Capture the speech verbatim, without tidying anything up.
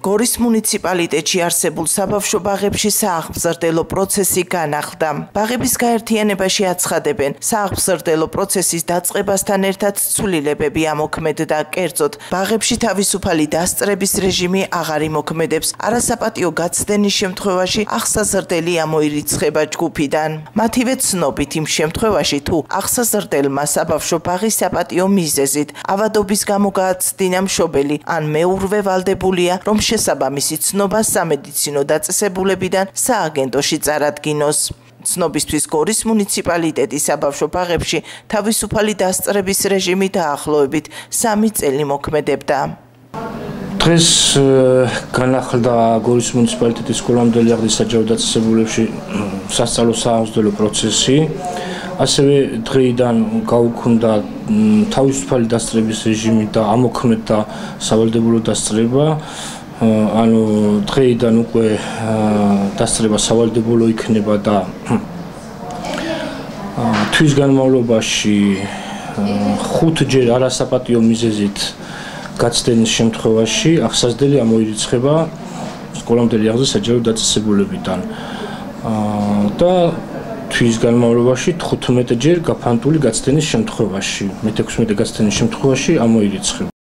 გორის მუნიციპალიტეტში არსებულ საბავშვო ბაღებში სააღმზრდელო პროცესი განახლდა. ბაღების გაერთიანებაში აცხადებენ, სააღმზრდელო პროცესის დაწყებასთან ერთად ცვლილებები ამოქმედდა, კერძოდ ბაღებში თავისუფალი დასწრების რეჟიმი აღარ იმოქმედებს, არასაპატიო გაცდენის შემთხვევაში აღსაზრდელი ამოირიცხება ჯგუფიდან. მათივე ცნობით იმ შემთხვევაში, თუ აღსაზრდელმა საბავშვო ბაღის საპატიო მიზეზით ავადობის გამო გააცდინა მშობელი ან მეურვე ვალდებულია, რომ შესაბამისი ცნობა სამედიცინო დაწესებულებიდან სააგენტოში წარადგინოს. ცნობისთვის გორის მუნიციპალიტეტის საბავშვო ბაღებში თავისუფალი დასწრების რეჟიმი დაახლოებით სამი წელი მოქმედებდა. დღეს განახლდა გორის მუნიციპალიტეტის სკოლამდელი აღზრდის საჯარო დაწესებულებში სასწავლო სააღმზრდელო პროცესი. ასევე დღეიდან გაუქმდა თავისუფალი დასწრების რეჟიმი და ამოქმედდა სავალდებულო დასწრება. ანუ დღეიდან უკვე დასწრება სავალდებულო იქნება და თვის განმავლობაში ხუთჯერ არასაპატიო მიზეზით გაცდენის შემთხვევაში აღსაზრდელი ამოირიცხება სკოლამდელი აღზრდის საჯარო დაწესებულებიდან და თვის განმავლობაში თხუთმეტჯერ გაფანტული გაცდენის შემთხვევაში, მეთექვსმეტე გაცდენის შემთხვევაში ამოირიცხება.